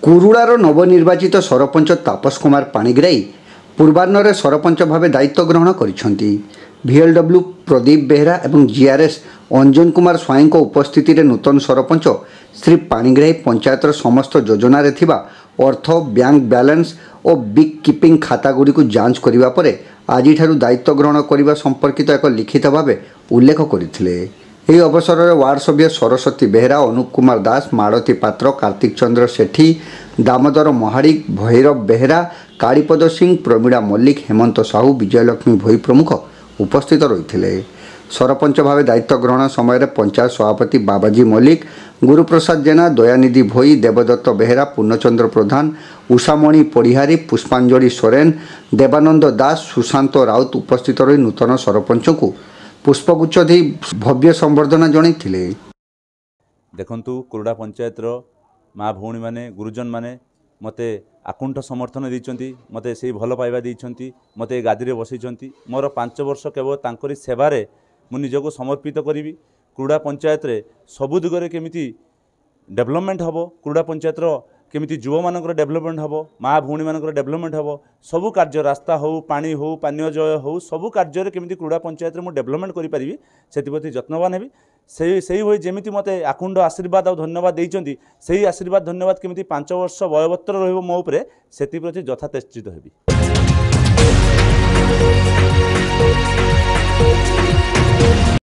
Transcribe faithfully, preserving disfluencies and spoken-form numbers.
କୁରୁଡ଼ାର ନବନିର୍ବାଚିତ ସରପଞ୍ଚ ତାପସ କୁମାର ପାଣିଗ୍ରାହୀ ପୂର୍ବାହ୍ନରେ ସରପଞ୍ଚ ଭାବେ ଦାୟିତ୍ୱ ଗ୍ରହଣ କରିଛନ୍ତି। ଭିଏଲ୍ଡବ୍ଲ୍ୟୁ ପ୍ରଦୀପ ବେହେରା ଏବଂ ଜିଆର୍ଏସ୍ ଅଞ୍ଜନ କୁମାର ସ୍ୱାଇଁଙ୍କ ଉପସ୍ଥିତିରେ ନୂତନ ସରପଞ୍ଚ ଶ୍ରୀ ପାଣିଗ୍ରାହୀ ପଞ୍ଚାୟତର ସମସ୍ତ ଯୋଜନାରେ ଥିବା ଅର୍ଥ, ବ୍ୟାଙ୍କ ବାଲାନ୍ସ ଓ ବୁକ୍ କିପିଂ ଖାତାଗୁଡ଼ିକୁ ଯାଞ୍ଚ କରିବା ପରେ ଆଜିଠାରୁ ଦାୟିତ୍ୱ ଗ୍ରହଣ କରିବା ସମ୍ପର୍କିତ ଏକ ଲିଖିତ ଭାବେ ଉଲ୍ଲେଖ କରିଥିଲେ। ଏହି ଅବସରରେ ୱାର୍ଡ ସଭ୍ୟ ସରସ୍ୱତୀ ବେହେରା, ଅନୁପ କୁମାର ଦାସ, ମାଳତୀ ପାତ୍ର, କାର୍ତ୍ତିକ ଚନ୍ଦ୍ର ସେଠୀ, ଦାମୋଦର ମହାଳିକ, ଭୈରବ ବେହେରା, କାଳୀପଦ ସିଂ, ପ୍ରମୀଳା ମଲ୍ଲିକ, ହେମନ୍ତ ସାହୁ, ବିଜୟଲକ୍ଷ୍ମୀ ଭୋଇ ପ୍ରମୁଖ ଉପସ୍ଥିତ ରହିଥିଲେ। ସରପଞ୍ଚ ଭାବେ ଦାୟିତ୍ୱ ଗ୍ରହଣ ସମୟରେ ପଞ୍ଚାୟତ ସଭାପତି ବାବାଜୀ ମଲ୍ଲିକ, ଗୁରୁପ୍ରସାଦ ଜେନା, ଦୟାନିଧି ଭୋଇ, ଦେବଦତ୍ତ ବେହେରା, ପୂର୍ଣ୍ଣଚନ୍ଦ୍ର ପ୍ରଧାନ, ଉଷାମଣି ପଡ଼ିହାରୀ, ପୁଷ୍ପାଞ୍ଜଳି ସୋରେନ, ଦେବାନନ୍ଦ ଦାସ, ସୁଶାନ୍ତ ରାଉତ ଉପସ୍ଥିତ ରହି ନୂତନ ସରପଞ୍ଚଙ୍କୁ ପୁଷ୍ପଗୁଚ୍ଛ ଦେଇ ଭବ୍ୟ ସମ୍ବର୍ଦ୍ଧନା ଜଣାଇଥିଲେ। ଦେଖନ୍ତୁ, କୁରୁଡ଼ା ପଞ୍ଚାୟତର ମା ଭଉଣୀମାନେ, ଗୁରୁଜନମାନେ ମୋତେ ଆକୁଣ୍ଠ ସମର୍ଥନ ଦେଇଛନ୍ତି, ମୋତେ ସେଇ ଭଲ ପାଇବା ଦେଇଛନ୍ତି, ମୋତେ ଏ ଗାଦିରେ ବସେଇଛନ୍ତି। ମୋର ପାଞ୍ଚ ବର୍ଷ କେବଳ ତାଙ୍କରି ସେବାରେ ମୁଁ ନିଜକୁ ସମର୍ପିତ କରିବି। କୁରୁଡ଼ା ପଞ୍ଚାୟତରେ ସବୁ ଦିଗରେ କେମିତି ଡେଭଲପମେଣ୍ଟ ହେବ, କୁରୁଡ଼ା ପଞ୍ଚାୟତର କେମିତି ଯୁବମାନଙ୍କର ଡେଭଲପମେଣ୍ଟ ହେବ, ମା ଭଉଣୀମାନଙ୍କର ଡେଭଲପମେଣ୍ଟ ହେବ, ସବୁ କାର୍ଯ୍ୟ, ରାସ୍ତା ହେଉ, ପାଣି ହେଉ, ପାନୀୟ ଜଳ ହେଉ, ସବୁ କାର୍ଯ୍ୟରେ କେମିତି କୁରୁଡ଼ା ପଞ୍ଚାୟତରେ ମୁଁ ଡେଭଲପମେଣ୍ଟ କରିପାରିବି, ସେଥିପ୍ରତି ଯତ୍ନବାନ ହେବି। ସେଇ ସେଇଭଳି ଯେମିତି ମୋତେ ଆକୁଣ୍ଠ ଆଶୀର୍ବାଦ ଆଉ ଧନ୍ୟବାଦ ଦେଇଛନ୍ତି, ସେଇ ଆଶୀର୍ବାଦ ଧନ୍ୟବାଦ କେମିତି ପାଞ୍ଚ ବର୍ଷ ବଳବତ୍ତର ରହିବ ମୋ ଉପରେ, ସେଥିପ୍ରତି ଯଥାଚେଷ୍ଟିତ ହେବି।